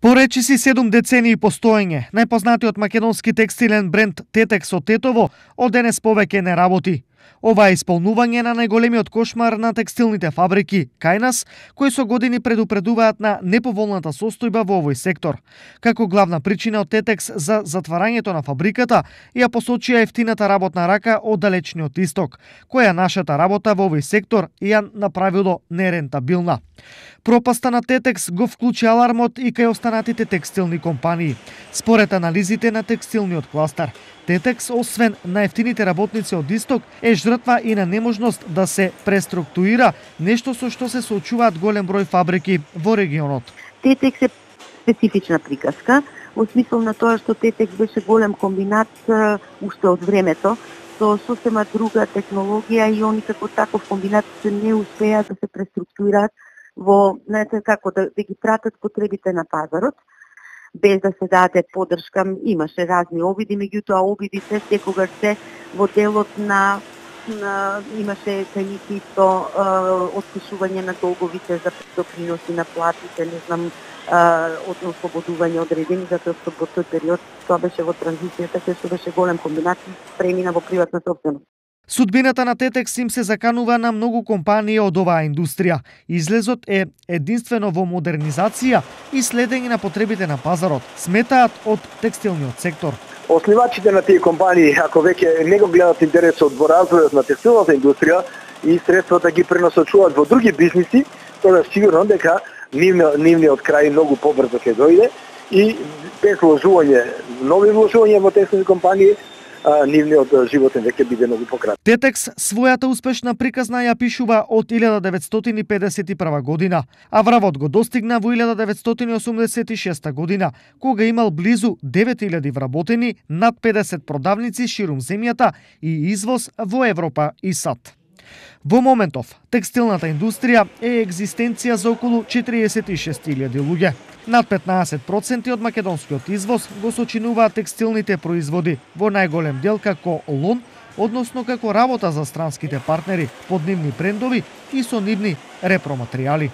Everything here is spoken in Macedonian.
По речиси 7 децении постоење, најпознатиот македонски текстилен бренд Тетекс од Тетово од денес повеќе не работи. Ова е исполнување на најголемиот кошмар на текстилните фабрики кај нас, кои со години предупредуваат на неповолната состојба во овој сектор. Како главна причина од Тетекс за затварањето на фабриката ја посочија ефтината работна рака од далечниот исток, која нашата работа во овој сектор ја направило нерентабилна. Пропаста на Тетекс го вклучи алармот и кај останатите текстилни компании. Според анализите на текстилниот кластер, Тетекс, освен на ефтините работници од исток, е жртва и на неможност да се преструктурира, нешто со што се соочуваат голем број фабрики во регионот. Тетекс е специфична приказка, во смисол на тоа што Тетекс беше голем комбинат уште од времето, со сосема друга технологија и они како таков комбинат се не успеа да се преструктурираат во, знаете како, да ги пратат потребите на пазарот, без да се даде поддршка. Имаше разни обиди, меѓутоа обидите секогаш се во делот на имаше кај нив исто отпишување на долговите за доприноси на платите, не знам, ослободување одредени, затоа што во тој период тоа беше во транзицијата, кај што беше голем комбинат и премина во приватна сопственост. Судбината на Тетекс им се заканува на многу компании од оваа индустрија. Излезот е единствено во модернизација и следење на потребите на пазарот, сметаат од текстилниот сектор. Основачите на тие компании, ако веќе не го гледат интересот во развојот на текстилната индустрија и средствата ги пренасочуваат во други бизниси, тоа сигурно дека нивниот крај многу побрзо ќе дојде и без вложување, нови вложувања во текстилни компании, нивниот животен веќе биде многу пократок. Тетекс својата успешна приказна ја пишува од 1951 година, а вравот го достигна во 1986 година, кога имал близу 9000 вработени, над 50 продавници ширум земјата и извоз во Европа и САД. Во моментов, текстилната индустрија е екзистенција за околу 46.000 луѓе. Над 15% од македонскиот извоз го сочинуваат текстилните производи, во најголем дел како лон, односно како работа за странските партнери под нивни брендови и со нивни репроматеријали.